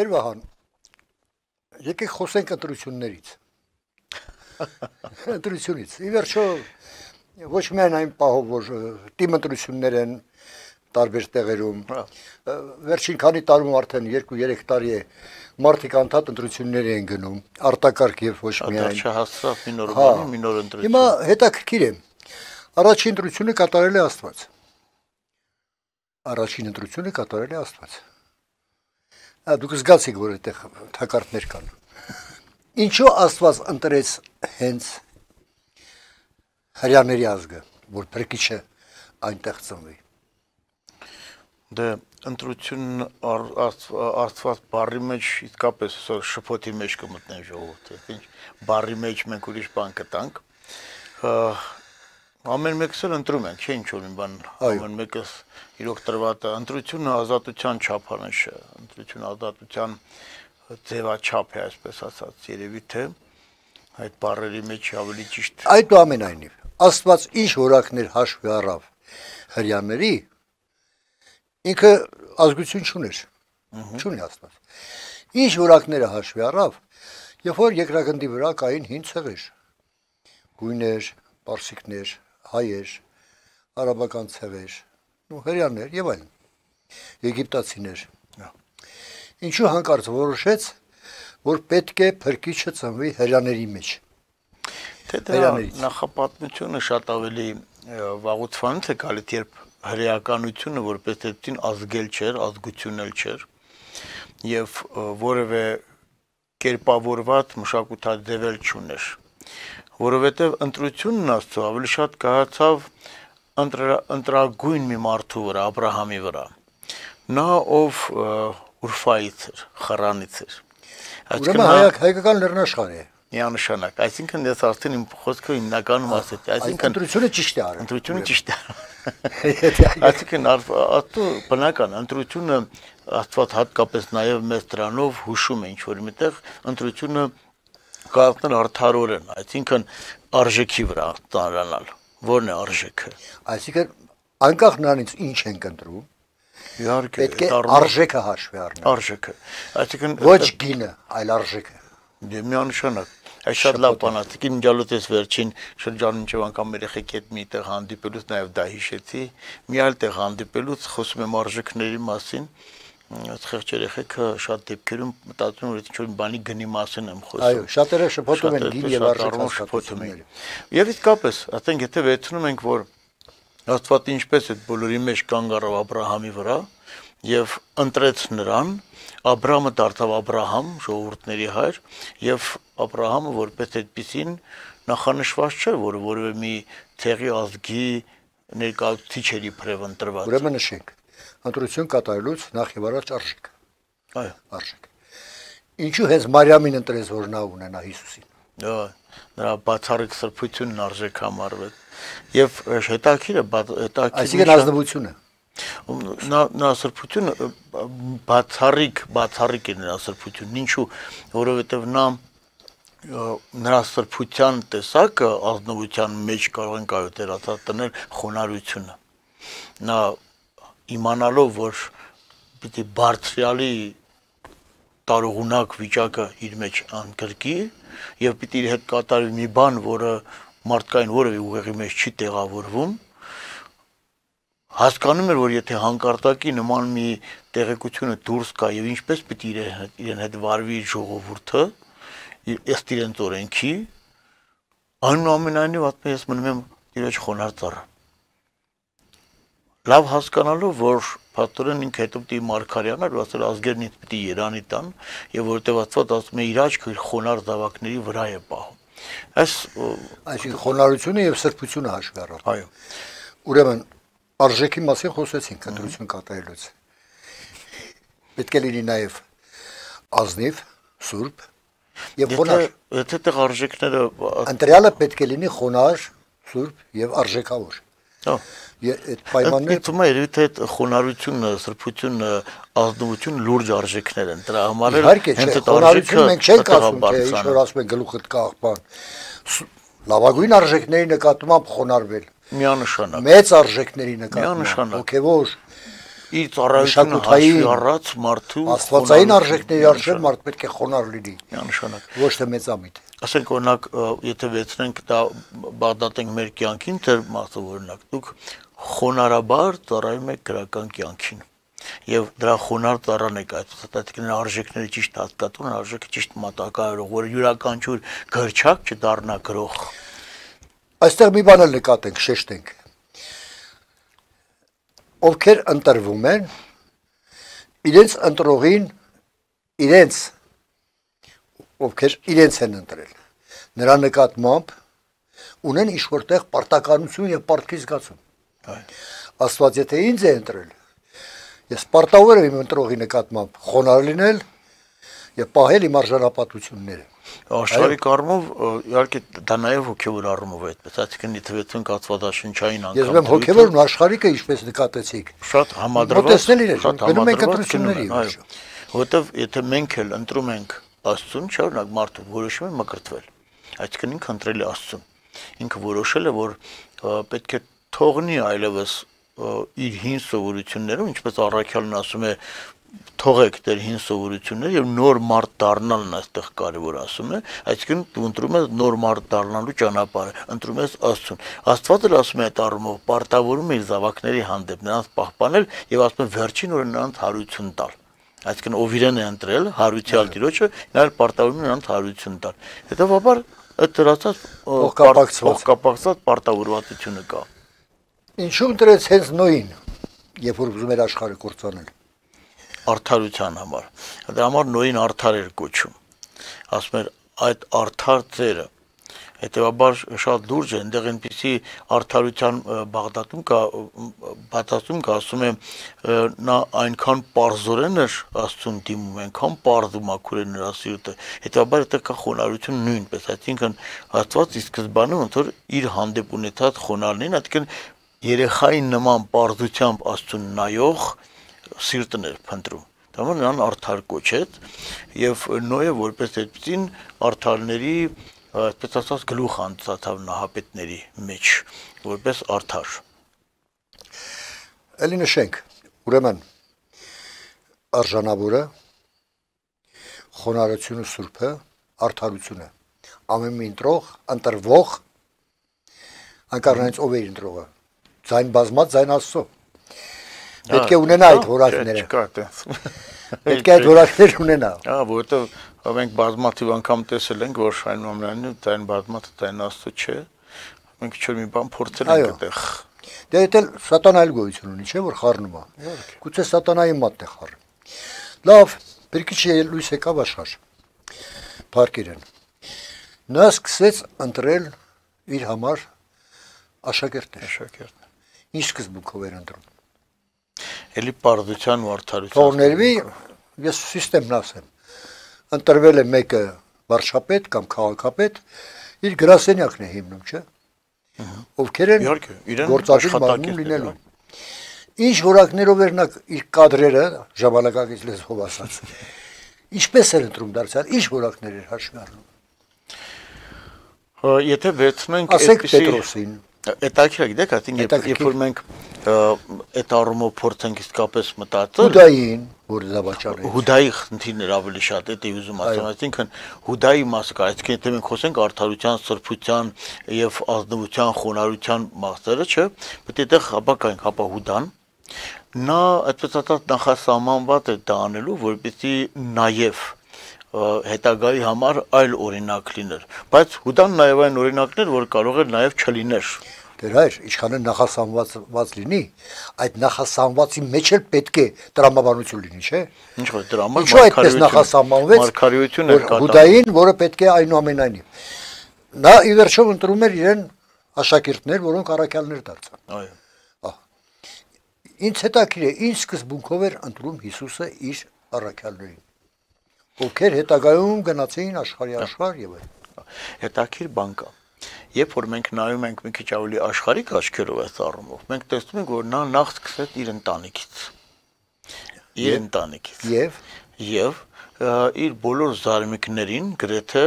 Տեր Վահան, եկեք խոսենք ընտրություններից։ Ընտրությունից։ Ի վերջո ոչ միայն այն պահով, որ թիմ ընտրություններ են տարբեր տեղերում, վերջին քանի տարում արդեն 2-3 տարի է մարդիկ անդադ ընտրություններ են գնում, արտակարգ եւ ոչ միայն։ Չհասավ մի նոր բանի, մի նոր ընտրություն։ Հիմա հետաքրքիր է։ Առաջին ընտրությունը կատարել է Աստված։ Առաջին ընտրությունը կատարել է Աստված։ Դուք զգացիք, որ այդտեղ թակարդներ կան։ Ինչու Աստված ընտրեց հենց հрьяաների ազգը, որ փրկիչը այնտեղ ծնվի։ Դե ընտրությունն Աստված բառի մեջ իսկապես շփոթի մեջ կմտնեն ժողովուրդը, ինչ բառի մեջ մենք ուրիշ բան կտանք։ Ամեն մեկս էլ ընտրում ենք, չէ՞ ինչ որ մի բան, ամեն մեկս իրոք տրված է։ Ընտրությունը ազատության չափանիշ է, ընտրությունը ազատության ձևաչափ է, այսպես ասած, երևի թե այդ բառերի մեջ ավելի ճիշտ։ Այդուամենայնիվ, Աստված ինչ որակներ հաշվի առավ հрьяաների, ինքը ազգություն չուներ, չունի Աստված։ Ինչ որակները հաշվի առավ, երբ որ երկրագնդի վրա կային հին ցեղեր, գույներ, պարսիկներ, հայեր, արաբական ցեղեր, հрьяաներ եւ այլն, եգիպտացիներ։ Ինչու հանկարծ որոշեց, որ պետք է փրկիչը ծնվի հрьяաների մեջ։ Թե նախապատմությունը շատ ավելի վաղուց է գալիս, երբ հրեականությունը որպես այդտին ազգել չէր, ազգությունել չէր եւ որևէ կերպավորված մշակութաձևել չուներ, որովհետեւ ընտրությունն Աստծո ավելի շատ կայացավ ընտրագույն մի մարդու վրա, Աբրահամի վրա, նա ով Ուրֆայից էր, Խարանից էր, ուրեմն հայկական լեռնաշխարհ է։ Միանշանակ, այսինքն ես արդեն իմ խոսքը հիմնականում ասեցի, այսինքն ընտրությունը ճիշտ է արել։ Ընտրությունը ճիշտ է։ Այսինքն բնական ընտրությունը Աստված հատկապես նաև մեծ դրանով հուշում է ինչ որ միտեղ ընտրությունը կայացնել արդարորեն, այսինքն արժեքի վրա ծանրանալ։ Որն է արժեքը։ Այսինքն անկախ նրանից ինչ ենք ընտրում, իհարկե պետք է արժեքը հաշվի առնել։ Արժեքը։ Այսինքն ոչ գինը, այլ արժեքը։ Դե միանշանակ Այս շատ լավ բան է, իմ ջալոց վերջին շրջանում ինչ անգամ երեխեքի հետ մի տեղ հանդիպելուց նաև դա հիշեցի, մի այլ տեղ հանդիպելուց խոսում եմ արժեքների մասին, խեղճ երեխեքը շատ դեպքերում մտածում են, որ ինչ որ բանի գնի մասին եմ խոսում։ Այո, շատերը շփոթում են գին եւ արժեքները։ Եվ իսկապես, ասենք եթե վերցնում ենք, որ Աստված ինչպես այդ բոլորի մեջ կանգ առավ Աբրահամի վրա եւ ընտրեց նրան, Աբրահամը դարձավ Աբրահամ, ժողովուրդների հայր, եւ Աբրահամը որպես այդպիսին նախանշված չէ, որ որևէ մի ցեղի ազգի ներկայացուցիչ էր իբրև ընտրված։ Ուրեմն նշենք, ընտրություն կատարելուց նախ եւ առաջ արժեք։ Այո, արժեք։ Ինչու հենց Մարիամին ընտրեց, որ նա ունենա Հիսուսին։ Այո, նրա բացառիկ սրբությունն արժեք համարվեց։ Եվ հետաքրքիրը, այսինքն ազնվությունը նա սրբությունը բացառիկ է նրա սրբությունն, ինչու, որովհետև նրա սրբության տեսակը ազնվության մեջ կարող են կայոտերացած տնել խոնարհությունը, նա իմանալով, որ պիտի բարձրյալի տարողունակ վիճակը իր մեջ անկրկի եւ պիտի իր հետ կատարվի մի բան, որը մարդկային որևէ ուղեղի մեջ չի տեղավորվում, հասկանում էր, որ եթե հանկարծակի նման մի տեղեկությունը դուրս գա եւ ինչպես պիտի իրեն հետ վարվի ժողովուրդը, ըստ իրենց օրենքի, այնուամենայնիվ ասում ես մնում եմ իրոջ խոնարհ ծառա։ Լավ հասկանալով, որ փաստորեն ինքը հետո պիտի Մարգարյանա ու ասել ազգերն ինձ պիտի Երանի տան եւ որտեւ Աստված ասում է իր աչքը իր խոնարհ զավակների վրա է պահում։ Այսինքն խոնարհությունը եւ սրբությունը հաշվի առավ։ Այո։ Ուրեմն արժեքի մասին խոսեցինք ընտրություն կատարելուց։ Պետք է լինի նաև ազնիվ, սուրբ եւ խոնարհ։ Եթե տեղ արժեքները ընտրյալը պետք է լինի խոնարհ, սուրբ եւ արժեքավոր։ Հա։ Այդ պայմանները Իտում է երևի թե խոնարհությունը, սրբությունը, ազնվությունը լուրջ արժեքներ են։ Դրա համար էլ հենց այդ արժեքը մենք չենք ասում, թե ինչ որ ասում են գլուխդ կաղբան։ Լավագույն արժեքների նկատմամբ խոնարհվել։ Միանշանակ։ Մեծ արժեքների նկատմամբ, հոգևոր, իր ծառայությունը հաշվի առած մարդու աստվածային արժեքների արժեր մարդ պետք է խոնարհ լինի։ Միանշանակ։ Ոչ թե մեծամիտ։ Ասենք օրինակ, եթե վերցնենք դա բադատենք մեր կյանքին, դեր մասով օրինակ, դուք խոնարհաբար ծառայում եք գրական կյանքին։ Եվ դրա խոնարհ ծառան եք այսինքն արժեքների ճիշտ հատկացում, արժեքը ճիշտ մատակարարող, որ յուրաքանչյուր գրչակ չդառնա գրող։ Այստեղ մի բան էլ նկատենք, շեշտենք։ Ովքեր ընտրվում են, իրենց ընտրողին, ովքեր իրենց են ընտրել, նրա նկատմամբ ունեն ինչ-որտեղ պարտականություն եւ պարտքի զգացում։ Աստված եթե ինձ է ընտրել, ես պարտավոր եմ իմ ընտրողի նկատմամբ խոնարհ լինել եւ պահել իմ արժանապատվությունները։ Աշխարհիկ առումով իհարկե դա նաև հոգևոր առումով է այդպես, այսինքն իթվեցուն կացվածաշնչային անգամ։ Ես ուրեմն հոգևորն աշխարհիկը ինչպես նկատեցիք։ Շատ համադրված, գնում ենք ընտրությունների։ Որտեվ եթե մենք էլ ընտրում ենք Աստծուն, չէ՞ օրինակ մարդը որոշում է մկրտվել, այսինքն ինքը ընտրել է Աստծուն։ Ինքը որոշել է, որ պետք է թողնի այլևս իր հին սովորությունները, ինչպես առաքյալն ասում է, թողեք դեր հին սովորությունները եւ նոր մարդ դառնալն այստեղ կարեւոր ասում է, այսինքն դու ընտրում ես նոր մարդ դառնալու ճանապարհը, ընտրում ես Աստծուն։ Աստված էլ ասում է այդ առումով, պարտավորում է իր զավակների հանդեպ նրանց պահպանել եւ ասում է վերջին օրը նրանց հարություն տալ։ Այսինքն ով իրեն է ընտրել, հարության Տիրոջը, նա էլ պարտավորում է նրանց հարություն տալ։ Հետևաբար այդ դրացած փոխկապակցված պարտավորվածությունը կա։ Ինչու ընտրեց հենց Նոյին, երբ որ ուզում էր աշխարհը կործանել։ Արդարության համար։ Դրա համար Նոյին արդար էր կոչում։ Ասում էր այդ արդար ծերը։ Հետևաբար շատ լուրջ է, այնտեղ այնպիսի արդարության բաղդատում կա, բացասում կա, ասում է նա այնքան պարզորեն էր Աստծուն դիմում, այնքան պարզ ու մաքուր էր նրա սիրտը։ Հետևաբար այդտեղ կա խոնարհություն նույնպես, այսինքն Աստված ի սկզբանե ոնց որ իր հանդեպ ունեցած խոնարհներին, այսինքն երեխայի նման պարզությամբ Աստծուն նայող սիրտն էր փնտրում։ Դա նրան արդար կոչեց եւ Նոյը որպես այդպեսին արդարների այսպես ասած գլուխ անցածավ նահապետների մեջ որպես արդար։ Էլի նշենք, ուրեմն արժանավորը, խոնարհությունը սուրբը, արդարությունը, ամեն մի ընտրվող, անկարնանից ով է ընտրողը, ձայն բազմած, ձայն Աստծո։ Պետք է ունենա այդ որակները։ Պետք է այդ որակներ ունենա։ Որովհետև մենք բազմաթիվ անգամ տեսել ենք, որ այնուամենայնիվ ձայն բազմածը ձայն Աստծո չէ։ Մենք ինչ-որ մի բան փորձել ենք այդտեղ։ Դե դա սատանա էլ գոյություն ունի, չէ՞ որ խառնում է։ Գուցե սատանայի մատն է խառնում։ Լավ, բերքիչը լույս եկավ աշխարհ։ Փառքերն։ Նա սկսեց ընտրել իր համար աշակերտներ։ Ինչ սկզբունքով էր ընտրում։ Էլի պարզության ու արդարության։ Թողներվի, ես սիստեմն ասեմ։ Ընտրվել է մեկը վարչապետ կամ քաղաքապետ, իր գրասենյակն է հիմնում, չէ՞։ Ովքեր են գործադիր մարմին լինելու։ Ինչ որակներով էր նա իր կադրերը ժամանակակից լեզվով ասած։ Ինչպես էր ընտրում դարձյալ, ինչ որակներ էր հաշվի առնում։ Եթե վերցնենք Պետրոսին, Հետաքրքիր է, գիտեք, այսինքն երբ որ մենք այդ առումով փորձենք իսկապես մտածել Հուդային, որ զավաճառ է։ Հուդայի խնդիրներ ավելի շատ է ուզում ասեմ, այսինքն Հուդայի մասը կա, այսինքն եթե մենք խոսենք արդարության, սրբության եւ ազնվության, խոնարհության մասերը, չէ՞, պետք է այդտեղ հապակայինք, հապա Հուդան նա այդպես ասած նախասահմանված է դա անելու, որպեսզի նաեւ հետագայի համար այլ օրինակ լիներ, բայց Հուդան նաև այն օրինակներ, որ կարող էր նաև չլիներ։ Դեր հայր, ինչքան նախասահմանված լինի, այդ նախասահմանվածի մեջ էլ պետք է տրամաբանություն լինի, չէ՞։ Ինչ որ դրամա Ինչու այդպես նախասահմանվեց Հուդային, որը պետք է այնուամենայնիվ։ Նա ի վերջո ընտրում էր իրեն աշակերտներ, որոնք առաքյալներ դարձան։ Այո։ Ինչ հետաքրքիր է, ինչ սկզբունքով էր ընտրում Հիսուսը իր առաքյալներին։ Ովքեր հետագայում գնացին աշխարհի աշխարհ եւ այլն։ Հետաքրքիր բան կա։ Երբ որ մենք նայում ենք մի քիչ ավելի աշխարհիկ աչքերով այս առումով, մենք տեսնում ենք, որ նա նախ սկսեց իր ընտանիքից։ Եվ իր բոլոր զարմիկներին գրեթե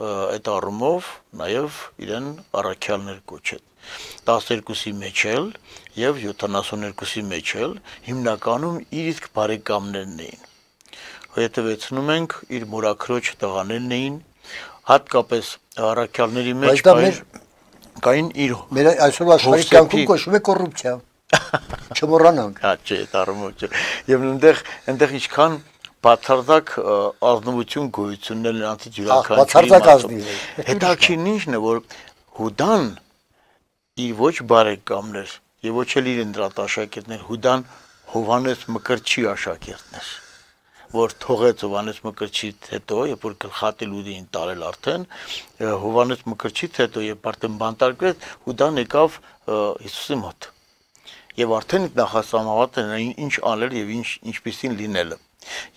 այդ առումով նաև իրեն առաքյալներ կոչեց։ 12-ի մեջ էլ եւ 72-ի մեջ էլ հիմնականում իր իսկ բարեկամներն էին։ Հետևեցնում ենք իր մորաքրոջ տղաներն էին, հատկապես առաքյալների մեջ կային իր մեր այսօր աշխարհի կյանքում կոչվում է կոռուպցիա։ Չմոռանանք։ Հա, չէ, տարումոճ։ Եվ այնտեղ ինչքան բացարձակ ազնվություն գոյություններ նրանցից յուրաքանչյուրի հետաքրքիրն ինչն է, որ Հուդան իր ոչ բարեկամներ եւ ոչ էլ իր ընտրած աշակերտներ, Հուդան Հովհաննես Մկրտչի աշակերտն էր, որ թողեց Հովհաննես Մկրտչից հետո, երբ որ գլխատի լուդին տարել արդեն, Հովհաննես Մկրտչից հետո երբ արդեն բանտարկվեց, Հուդան եկավ Հիսուսի մոտ։ Եւ արդեն նախասահմանված էր ինչ անել եւ ինչպեսին լինելը։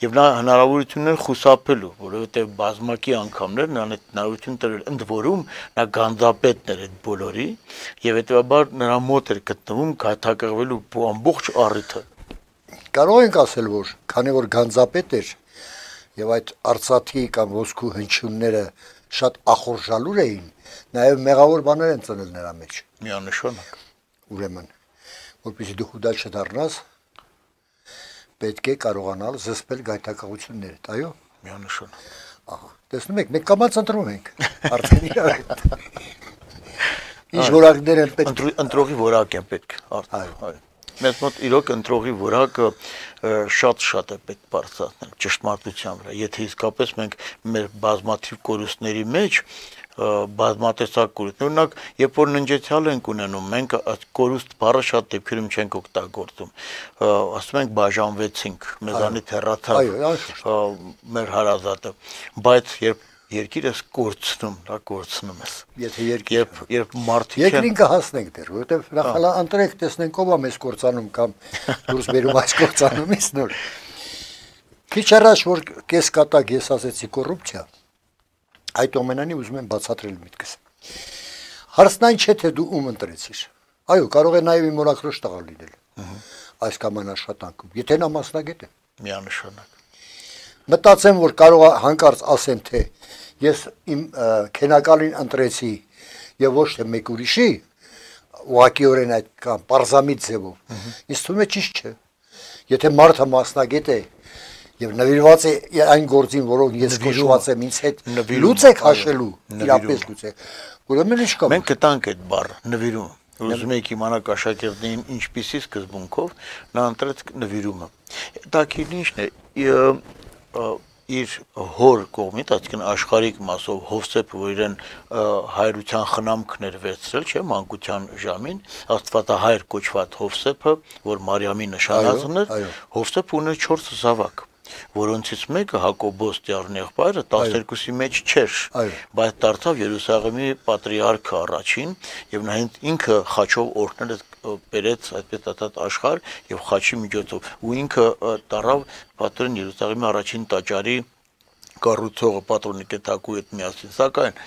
Եվ նա հնարավորություններ խուսափելու, որովհետեւ բազմակի անգամներ նրան այդ հնարավորություն տրել, ընդ որում նա գանձապետն էր այդ բոլորի եւ հետեւաբար նրա մոտ էր գտնվում գայթակղվելու ամբողջ առիթը։ Կարող ենք ասել, որ քանի որ գանձապետ էր եւ այդ արծաթի կամ ոսկու հնչյունները շատ ախորժալուր էին, նաեւ մեղավոր բաներ են ծնել նրա մեջ։ Միանշանակ։ Ուրեմն, որպեսզի դու Հուդա չդառնաս, պետք է կարողանալ զսպել գայթակղություններդ, այո։ Միանշանակ։ Ահա, տեսնում եք, մենք կամաց ընտրում ենք արդեն իրար հետ։ Ինչ որակներ են պետք։ Ընտրողի որակ է պետք արդեն, այո։ Մեզ մոտ իրոք ընտրողի որակը շատ է պետք բարձրացնել ճշտամարտության վրա։ Եթե իսկապես մենք մեր բազմաթիվ կորուստների մեջ բազմատեսակ կորուստ, օրինակ, երբ որ ննջեցյալ ենք ունենում, մենք կորուստ բառը շատ դեպքերում չենք օգտագործում։ Ասում ենք բաժանվեցինք, մեզանից հեռացավ մեր հարազատը, բայց երբ երկիրս կորցնում, դա կորցնում ես։ Եթե երբ մարդիկ երկրին կհասնենք դեռ, որովհետև նախ ընտրեք, տեսնենք ով է մեզ կորցանում կամ դուրս բերում այս կորցանումից նոր։ Քիչ առաջ որ կես կատակ ես ասեցի կոռուպցիա, այդ ամենանի ուզում եմ բացատրել միտքս։ Հարցն այն չէ թե դու ում ընտրեցիր։ Այո, կարող է նաև իմ մորաքրոջ տղա լինել։ Այս կամ այն աշխատանքում, եթե նա մասնագետ է։ Միանշանակ։ Մտածեմ, որ կարող է հանկարծ ասեն, թե ես իմ քենակալին ընտրեցի եւ ոչ թե մեկ ուրիշի, ուղղակիորեն այդ կամ պարզամիտ ձևով։ Ինձ թվում է ճիշտ չէ։ Եթե մարդը մասնագետ է եւ նվիրված է այն գործին, որով ես քշված եմ ինձ հետ, լուծեք հաշելու, իրապես լուծեք։ Ուրեմն ինչ կա։ Մենք գտանք այդ բառը, նվիրում։ Ուզում եք իմանալ աշակերտներին ինչպիսի սկզբունքով նա ընտրեց նվիրումը։ Դա քիչն է իր հոր կողմից, այսինքն աշխարհիկ մասով Հովսեփը, որ իրեն հայրության խնամքն էր վերցրել, չէ, մանկության ժամին, Աստվածահայր կոչված Հովսեփը, որ Մարիամի նշանածն էր, Հովսեփը ուներ 4 զավակ, որոնցից մեկը Հակոբոս Տիառն եղբայրը 12-ի մեջ չէր, բայց դարձավ Երուսաղեմի պատրիարքը առաջին եւ նա ինքը խաչով օրհնել բերեց այդպես աշխարհ եւ խաչի միջոցով ու ինքը դարավ պատրոն Երուսաղեմի առաջին տաճարի կառուցողը պատրոնիկե Թակուի հետ միասին, սակայն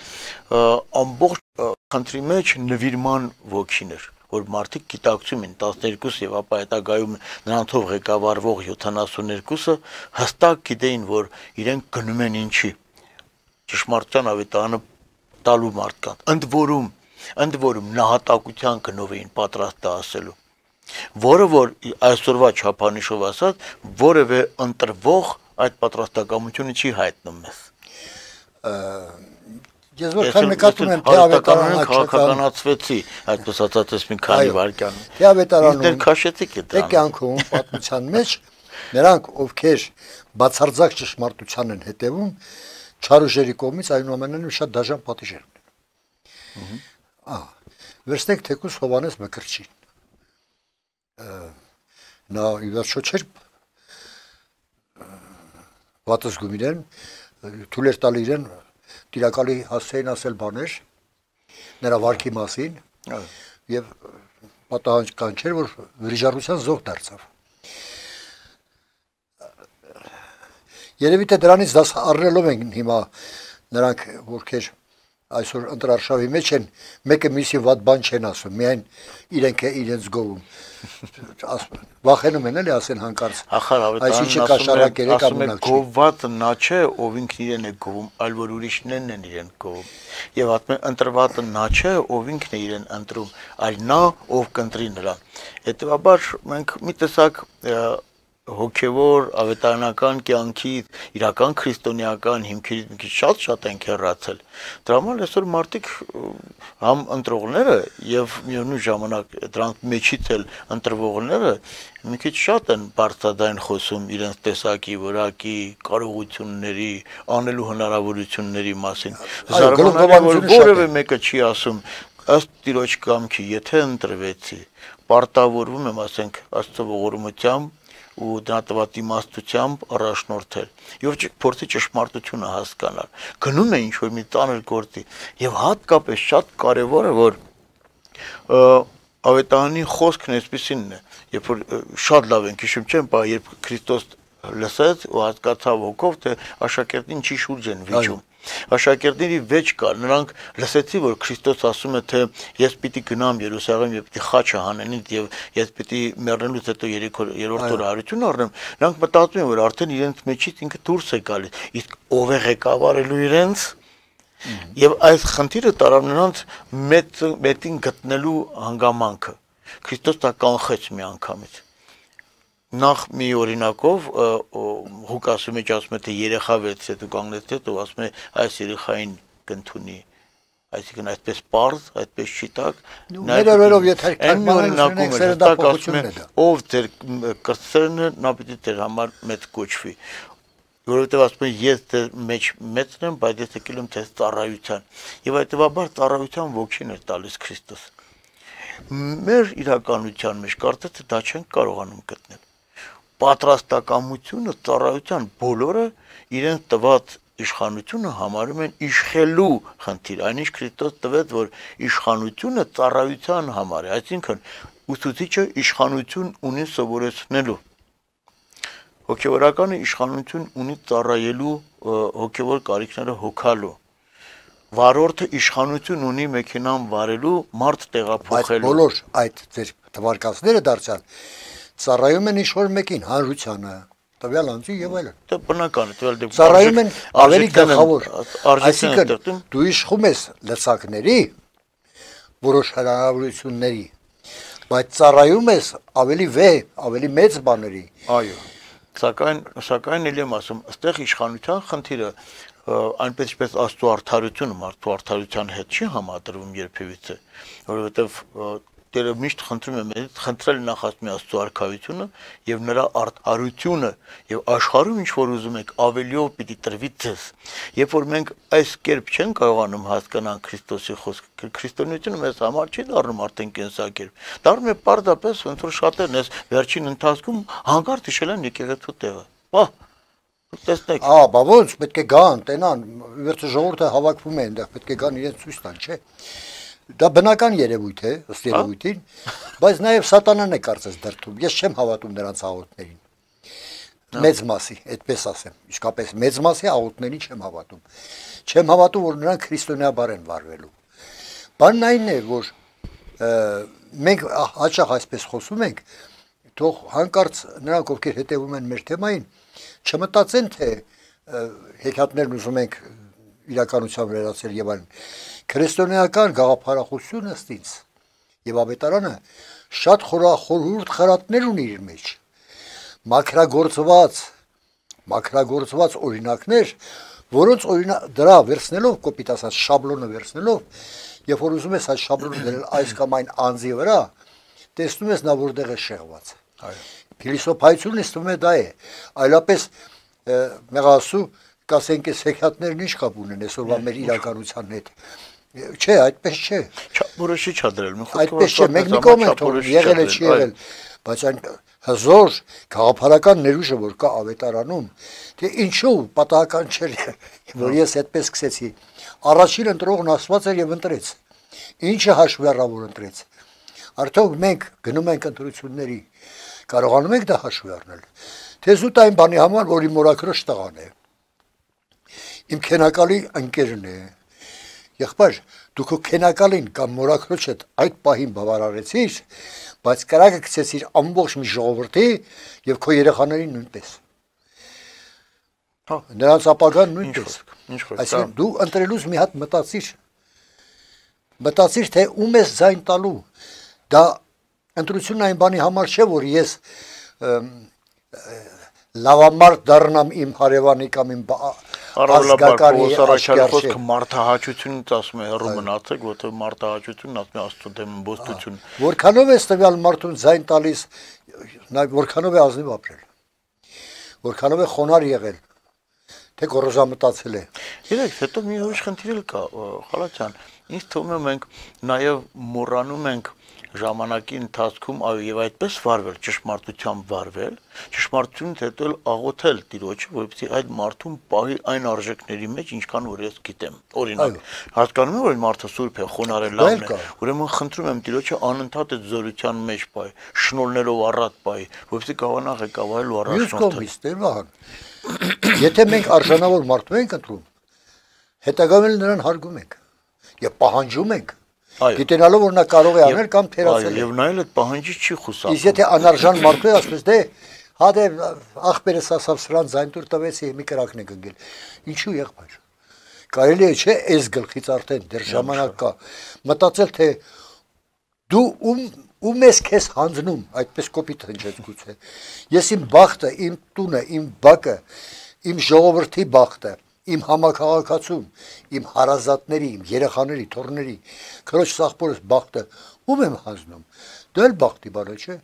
ամբողջ քանտրի մեջ նվիրման ոգին էր, որ մարդիկ գիտակցում են 12 եւ ապա հետագայում նրանցով ղեկավարվող 72-ը հստակ գիտեին, որ իրենք գնում են ինչի ճշմարտության ավետարանը տալու մարդկանց, ընդ որում նահատակության գնով էին պատրաստ ասելու, որը որ այսօրվա չափանիշով ասած, որևէ ընտրվող այդ պատրաստակամությունը չի հայտնում մեզ։ Ես որքան նկատում եմ թե ավետարանը քաղաքականացվեցի, այդպես ասած մի քանի վայրկյան։ Թե ավետարանում դեռ քաշեցիք այդ կյանքում պատմության մեջ նրանք ովքեր բացարձակ ճշմարտության են հետևում, չարուժերի կողմից այնուամենայնիվ շատ դաժան պատիժ են։ Վերցնենք թեկուզ Հովհաննես Մկրտչին։ Նա իվերջո չէր վատզգում իրեն, թույլ էր տալ իրեն տիրակալի հասցեին ասել բաներ նրա վարքի մասին եւ պատահական չէր, որ վրիժառության զոհ դարձավ։ Երևի թե դրանից դաս առնելով են հիմա նրանք, ովքեր այսօր ընտրարշավի մեջ են, մեկը մյուսի վատ բան չեն ասում, միայն իրենք է իրենց գովում։ Վախենում են էլի ասեն հանկարծ։ Ախար Ավետարանն ասում է գովվածը նա չէ, ով ինքն իրեն է գովում, այլ որ ուրիշներն են իրեն գովում։ Եվ ասում են ընտրվածը նա չէ, ով ինքն է իրեն ընտրում, այլ նա, ով կընտրի նրան։ Հետևաբար մենք մի տեսակ հոգևոր ավետարանական կյանքի իրական քրիստոնեական հիմքերից մի քիչ շատ ենք հեռացել։ Դրա համար այսօր մարդիկ համ ընտրողները եւ միևնույն ժամանակ դրանք մեջից էլ ընտրվողները մի քիչ շատ են բարձրաձայն խոսում իրենց տեսակի, որակի, կարողությունների, անելու հնարավորությունների մասին։ Զարմանալի որ որևէ մեկը չի ասում ըստ Տիրոջ կամքի, եթե ընտրվեցի, պարտավորվում եմ, ասենք, Աստծո ողորմությամբ ու դրա տված իմաստությամբ առաջնորդել եւ փորձի ճշմարտությունը հասկանալ գնում է ինչ որ մի տաներ գործի եւ հատկապես շատ կարեւոր է որ ավետարանի խոսքն այսպեսին է երբ որ շատ լավ ենք հիշում չեմ բա երբ Քրիստոս լսեց ու հասկացավ հոգով թե աշակերտին չի շուրջ են վիճում աշակերտների վեճ կար նրանք լսեցի որ Քրիստոս ասում է թե ես պիտի գնամ Երուսաղեմ եւ պիտի խաչը հանեն եւ ես պիտի մեռնելուց հետո երրորդ օրը հարություն առնեմ նրանք մտածում են որ արդեն իրենց մեջից ինքը դուրս է գալիս իսկ ով է ղեկավարելու իրենց եւ այս խնդիրը տարավ նրանց մետին գտնելու հանգամանքը Քրիստոս դա կանխեց մի անգամից նախ մի օրինակով Ղուկասի մեջ ասում է թե երեխա վերցրեց դու կանգնեցեք ու ասում է այս երեխային կընդունի այսինքն այդպես պարզ այդպես շիտակ ներերով եթե այն օրինակում է հստակ ասում է ով ձեր կրտսերն նա պիտի ձեր համար մեծ կոչվի որովհետև ասում է ես ձեր մեջ մեծն եմ բայց ես եկել եմ ձեզ ծառայության եւ այդտեղաբար ծառայության ոգին էր տալիս Քրիստոս մեր իրականության մեջ կարծես թե դա չենք կարողանում գտնել պատրաստակամությունը ծառայության բոլորը իրենց տված իշխանությունը համարում են իշխելու խնդիր այնինչ Քրիստոս տվեց որ իշխանությունը ծառայության համար է այսինքն ուսուցիչը իշխանություն ունի սովորեցնելու հոգևորականը իշխանություն ունի ծառայելու հոգևոր կարիքները հոգալու վարորդը իշխանություն ունի մեքենան վարելու մարդ տեղափոխելու բոլոր այդ ձեր թվարկածները դարձան ծառայում են ինչ-որ մեկին հանրությանը տվյալ անձի եւ այլն դա բնական է տվյալ դեպքում ծառայում են ավելի գլխավոր այսինքն դու իշխում ես լծակների որոշ հնարավորությունների բայց ծառայում ես ավելի ավելի մեծ բաների այո սակայն ելի եմ ասում այստեղ իշխանության խնդիրը այնպես ինչպես Աստծո արդարությունը մարդու արդարության հետ չի համադրվում երբևիցե որովհետև Տերը միշտ խնդրում է մեզ խնդրել նախ ասում է Աստծո արքայությունը եւ նրա արդարությունը եւ աշխարհում ինչ որ ուզում եք ավելիով պիտի տրվի ձեզ երբ որ մենք այս կերպ չենք կարողանում հասկանալ Քրիստոսի խոսքը քրիստոնեությունը մեզ համար չի դառնում արդեն կենսակերպ դառնում է պարզապես ոնց որ շատերն էս վերջին ընթացքում հանկարծ հիշել են եկեղեցու տեղը բա տեսնեք բա ոնց պետք է գան տենան վերջը ժողովուրդը հավաքվում է այնտեղ պետք է գան իրենց ցույց տան չէ Դա բնական երևույթ է, ըստ երևույթին, բայց նաև սատանան է կարծես դրդում։ Ես չեմ հավատում նրանց աղոթներին։ Մեծ մասի, այդպես ասեմ, իսկապես մեծ մասի աղոթներին չեմ հավատում։ Չեմ հավատում, որ նրանք քրիստոնեաբար են վարվելու։ Բանն այն է, որ մենք հաճախ այսպես խոսում ենք, թող հանկարծ նրանք, ովքեր հետևում են մեր թեմային, չմտածեն, թե հեքիաթներն ուզում ենք իրականության վերածել եւ այլն քրիստոնեական գաղափարախոսությունը ըստ ինձ եւ ավետարանը շատ խորհուրդ խրատներ ունի իր մեջ մաքրագործված օրինակներ որոնց դրա վերցնելով կոպիտ ասած շաբլոնը վերցնելով երբ որ ուզում ես այդ շաբլոնը դնել այս կամ այն անձի վրա տեսնում ես նա որտեղ է շեղված փիլիսոփայությունն ստում է դա է այլապես մեղասու կասենք այս հեքիաթներն ինչ կապ ունեն այսօրվա մեր իրականության հետ չէ այդպես չէ որոշի չադրել այդպես չէ մեկ մի կոմենտ եղել է չի եղել բայց այն հզոր գաղափարական ներուժը որ կա ավետարանում թե ինչու պատահական չէր որ ես այդպես սկսեցի առաջին ընտրողն Աստված էր եւ ընտրեց ինչը հաշվի առավ որ ընտրեց արդյոք մենք գնում ենք ընտրությունների կարողանում ենք դա հաշվի առնել թե զուտ այն բանի համար որի մորաքրոջ տղան է Իմ քենակալի ընկերն է, Եղբայր, դու քո քենակալին կամ մորաքրոջդ այդ պահին բավարարեցիր, բայց կրակը գցեցիր ամբողջ մի ժողովրդի եւ քո երեխաներին նույնպես։ Հա, նրանց ապագան նույնպես։ Ինչ խոսք։ Այսինքն դու ընտրելուց մի հատ մտածիր, թե ում ես ձայն տալու։ Դա ընտրությունն այն բանի համար չէ, որ ես լավամարդ դառնամ իմ հարևանի կամ իմ ազգականի խոսքը մարդահաճությունից ասում է հեռու մնացեք, որտեղ մարդահաճությունն ասում է Աստծո դեմ բոստություն։ Որքանով է տվյալ մարդուն ձայն տալիս, որքանով է ազնիվ ապրել, որքանով է խոնարհ եղել, թե գոռոզամտածել է։ Գիտեք, հետո մի ուրիշ խնդիր էլ կա, Խալաչյան, ինձ թվում է մենք նաև մոռանում ենք ժամանակի ընթացքում այո եւ այդպես վարվել, ճշմարտությամբ վարվել, ճշմարտությունից հետո աղոթել Տիրոջը, որպեսզի այդ մարդուն պահի այն արժեքների մեջ, ինչքան որ ես գիտեմ։ Օրինակ, հասկանում եմ, որ մարդը սուրբ է, խոնարհ է, լավն է, ուրեմն խնդրում եմ Տիրոջը անընդհատ այդ զորության մեջ պահի, շնորհներով առատ պահի, որպեսզի կարողանա ղեկավարել ու առաջնորդել։ Եթե մենք արժանավոր մարդու ենք ընտրում, հետագայում նրան հարգում ենք եւ պահանջում ենք, գիտենալով որ նա կարող է անել կամ թերացնել։ Եվ նա էլ այդ պահանջից չի խուսափում։ Իսկ եթե անարժան մարդու է ասես դե հադե ախպերս ասավ սրան ձայն տուր տվեցի մի կրակն է գնգել։ Ինչու եղբայր։ Կարելի է չէ այս գլխից արդեն դեռ ժամանակ կա մտածել թե դու ում ես քեզ հանձնում, այդպես կոպիտ հնչեց գուցե։ Ես իմ բախտը, իմ տունը, իմ բակը, իմ ժողովրդի բախտը, իմ համակարգացում, իմ հարազատների, իմ երեխաների, թոռների, քրոջ սաղբորս բախտը ում եմ հանձնում։ Դա էլ բախտի բառ է, չէ։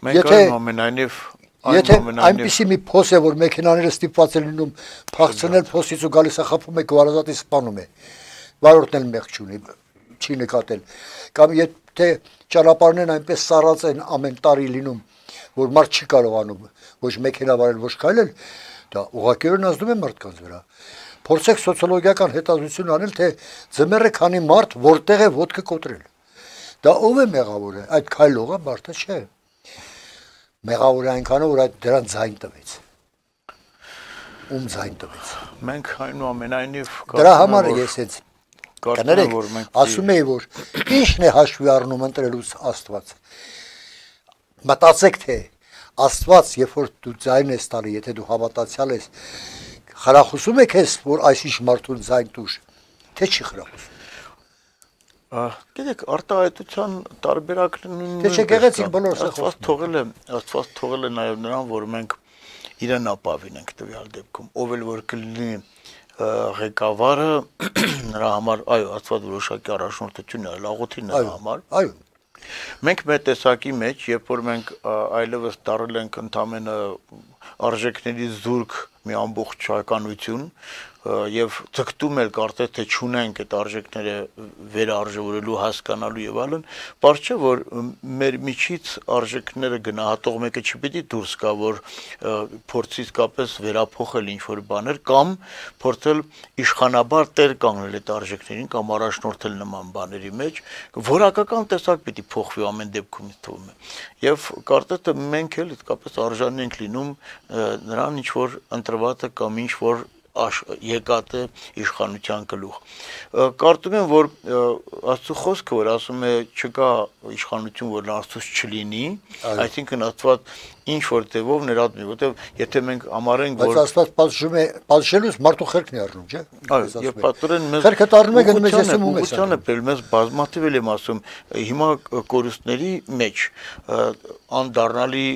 Մենք այնուամենայնիվ Եթե այնպիսի մի փոս է, որ մեքենաները ստիպված են լինում փախցնել փոսից ու գալիս է խփում է գարազատի սպանում է։ Վարորդն էլ մեղք չունի, չի նկատել։ Կամ եթե ճանապարհներն այնպես սառած են ամեն տարի լինում, որ մարդ չի կարողանում ոչ մեքենա վարել, ոչ քայլել, դա ուղղակիորեն ազդում է մարդկանց վրա։ Փորձեք սոցիոլոգիական հետազոտություն անել, թե ձմեռը քանի մարդ որտեղ է ոտքը կոտրել։ Դա ով է մեղավորը, այդ քայլողը, մարդը չէ։ Մեղավորը այնքանով, որ այդ դրան ձայն տվեց։ Ում ձայն տվեց։ Մենք այնուամենայնիվ դրա համար ես հենց կներեք, ասում էի, որ ինչն է հաշվի առնում ընտրելուց Աստված։ Մտածեք, թե Աստված, երբ որ դու ձայն ես տալի, եթե դու հավատացյալ ես, խրախուսում է քեզ, որ այսինչ մարդուն ձայն տուր, թե չի խրախուսում։ Գիտեք, արտահայտության տարբերակներն Թե չգեղեցիկ բոլորս Աստված թողել է նաև նրան, որ մենք իրեն ապավինենք տվյալ դեպքում, ով էլ որ կլինի ղեկավարը նրա համար, այո, Աստված որոշակի առաջնորդություն է, աղոթի նրա համար։ Այո։ Մենք մեր տեսակի մեջ, երբ որ մենք այլևս դարել ենք ընդամենը արժեքների զուրկ մի ամբողջականություն եւ ցկտում էլ կարծես թե չունենք այդ արժեքները վերարժևորելու, հասկանալու եւ այլն, բարձ չէ որ մեր միջից արժեքները գնահատող մեկը չպիտի դուրս գա, որ փորձի իսկապես վերափոխել ինչ որ բաներ կամ փորձել իշխանաբար տեր կանգնել այդ արժեքներին կամ առաջնորդել նման բաների մեջ, որակական տեսակ պիտի փոխվի ամեն դեպքում ինձ թվում է։ Եվ կարծես թե մենք էլ իսկապես արժանի ենք լինում նրան ինչ որ ընտրվածը կամ ինչ որ եկած է իշխանության գլուխ։ Կարծում եմ, որ Աստծո խոսքը, որ ասում է չկա իշխանություն, որ Աստծոց չլինի, այսինքն Աստված ինչ որ ձևով ներառում, որտեղ եթե մենք համարենք, որ բայց Աստված պատժում է, պատժելուց մարդու խելքն է առնում, չէ՞։ Այո, եւ պատորեն մեզ խելքը դառնում է գնում ես եսում ու ես։ Ուղղությունը բերել մեզ բազմաթիվ եմ ասում, հիմա կորուստների մեջ անդառնալի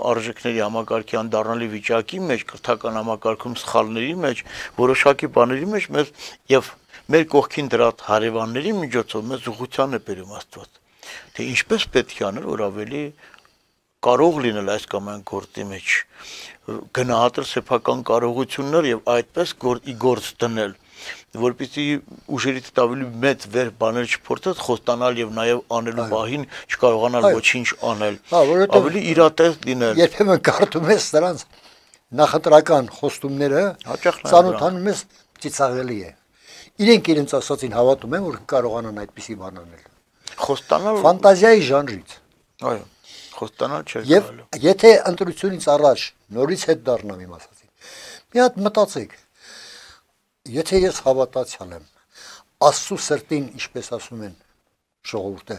արժեքների համակարգի անդառնալի վիճակի մեջ, կրթական համակարգում սխալների մեջ, որոշակի բաների մեջ մեզ եւ մեր կողքին դրած հարևանների միջոցով մեզ ուղղության է բերում Աստված։ Թե ինչպես պետք է անել, որ ավելի կարող լինել այս կամ այն գործի մեջ, գնահատել սեփական կարողություններ եւ այդպես գործ դնել, որպեսզի ուժերից ավելի մեծ վեր բաներ չփորձած խոստանալ եւ նաեւ անելու բահին չկարողանալ ոչինչ անել, ավելի իրատես լինել։ Երբեմն կարդում ես նրանց նախընտրական խոստումները, ծանոթանում ես ծիծաղելի է։ Իրենք իրենց ասածին հավատում են, որ կարողանան այդպիսի բան անել։ Խոստանալ ֆանտազիայի ժանրից։ Այո, խոստանալ չէ Եվ եթե ընտրությունից առաջ նորից հետ դառնամ իմ ասածին, մի հատ մտածեք, եթե ես հավատացյալ եմ, Աստծո սրտին, ինչպես ասում են ժողովուրդը,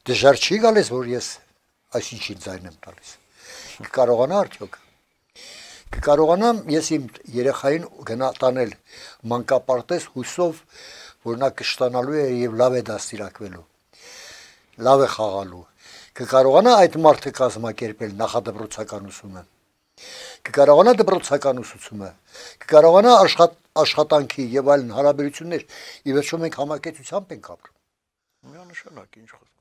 դժվար չի գալիս, որ ես այսինչին ձայն եմ տալիս։ Կկարողանա արդյոք։ Կկարողանամ ես իմ երեխային գնա տանել մանկապարտեզ հույսով, որ նա կշտանալու է եւ լավ է դաստիարակվելու։ Լավ է խաղալու։ Կկարողանա այդ մարդը կազմակերպել նախադպրոցական ուսումը։ Կկարողանա դպրոցական ուսուցումը, կկարողանա աշխատանքի եւ այլն հարաբերություններ, ի վերջո մենք համակեցությամբ ենք ապրում։ Միանշանակ ինչ խոսք։